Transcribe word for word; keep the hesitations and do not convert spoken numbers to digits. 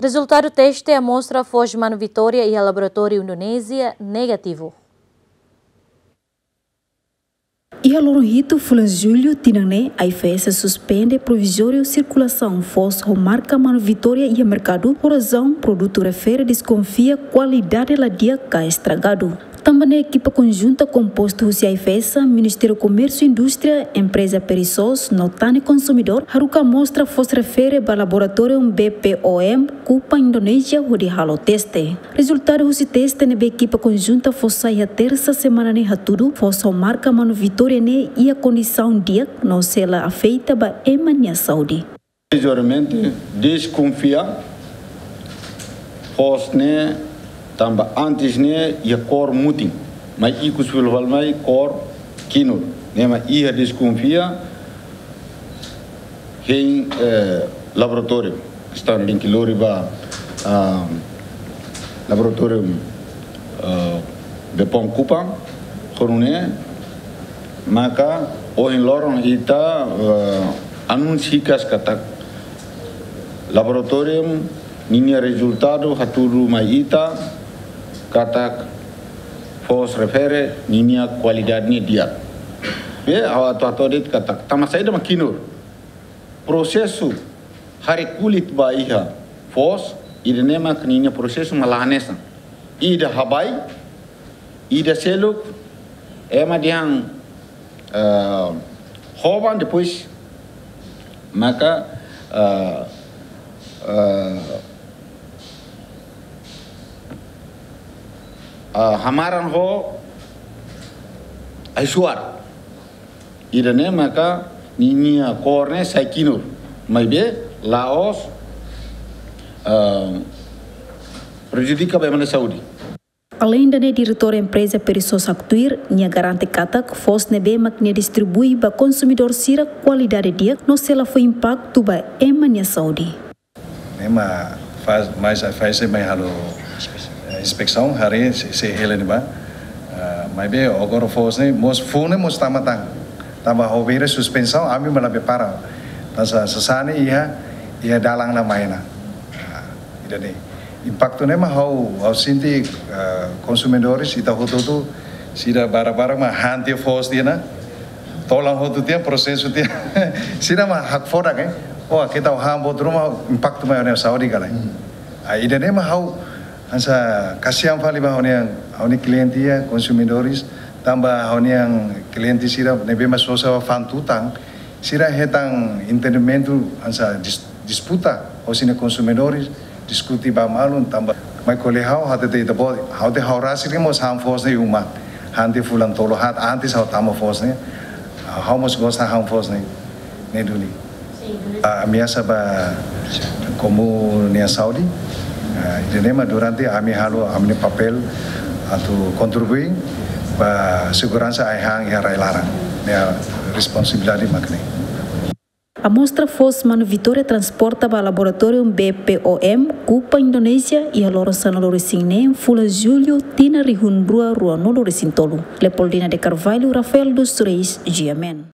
Rezultadu teste amostra foos Manu Vitória iha laboratóriu Indonézia negativu. Iha loron hitu fulan Jullu tinan ne'e, AIFAESA suspende provizóriu sirkulasaun foos ho marka Manu Vitória iha merkadu, ho razaun produtu refere deskonfia kualidade la di'ak ka estragadu. Tanba ne'e ekipa konjunta kompostu husi AIFAESA, Ministériu Komérsiu Indústria, Empreza Perisos no Tan Ne'e Konsumidór haruka amostra foos refere ba laboratóriu B P O M Kupang Indonézia hodi halo teste. Rezultadu husi teste ne'ebé ekipa konjunta fó sai iha tersa semana ne'e hatudu, foos ho marka Manu Vitória ne'e iha kondisaun di'ak no sei la afeta ba ema nia saúde. Provizoriamente deskonfia foos ne'e tanba antes ne'e iha kór mutin, mai ikus fila fali mai kór kinur. Ne'e mak iha deskonfia hein, eh, laboratóriu. Están link lori ba, ah, laboratóriu, ah, B P O M Kupang. Ho nune'e maka ohin loron ita, ah, anúnsiu hikas katak laboratóriu ninia rezultadu hatudu mai ita katak foos refere ninia kualidade ne'e di'ak. Be, ha'u atu hato'o de'it katak tanba saida mak kinur. Prosesu haree kulit ba iha foos, ida-ne'e mak ninia prosesu mak la hanesan. Ida habai, ida seluk, ema dehan, eh, hoban, depois maka, eh, eh, eh, hamaran ho ai-suar. Ida-ne'e maka ninia kór ne'e sai kinur. Maibé la'ós, ah, prejudika ba ema nia saúde. Aleinde ne'e, Diretór Empreza Perisos haktuir, nia garante katak foos ne'ebé mak nia distribui ba konsumidór sira kualidade di'ak no sei la fó impaktu ba ema nia saúde. Ne'e mak faz, mas faz mai halo, eh, inspesaun, haree se, se hela ne'ebá. Ah, maibé agora foos ne'e mós fuan ne'e mós tama tan. Tanba ha'u bele suspensaun, ami mak la prepara. Tanba sasán ne'e iha, iha dalan ona mai ona. Ah, ida-ne'e. Impaktu ne'e mak ha'u, ha'u sente, ah, konsumidores, ita hotu-hotu, sira barak-barak mak han tiha foos tiha ona. Tolan hotu tiha, prosesu tiha. Sira mak hakfodak, eh. Oh, keta han buat ruma, impaktu mai ona saúde ka lae. Hmm. Ah, ida-ne'e mak ha'u hanesan kasihan fali ba ha'u-nia, ha'u-nia kliente iha, konsumidores, tanba ha'u-nia kliente sira ne'ebé mak sosa fa'an tutan, sira hetan entendimentu hanesan dis-, disputa ho sira-nia konsumidores, diskute ba malu, tanba mai ko'alia ha'u, ha'u hatete ita-boot, ha'u hatete ha'u rasik mós han foos ne'e iha uma. Han tiha fulan tolu haat antes ha'u tama foos ne'e. Ha'u mós gosta han foos ne'e. Ne'e duni. Ah, ameasa ba komu nia saúde. Ah, ida-ne'e mak durante ami halo ami-nia papél atu kontribui ba seguransa ai-han iha rai-laran. Ne'e responsabilidade mak ne'e. Amostra foos Manu Vitória transporta ba laboratóriu B P O M Kupang Indonézia iha loron sanulu-resin-neen fulan Jullu tinan rihun rua ruanulu-resin-tolu. Leopoldina de Carvalho, Rafael dos Reis, G M N.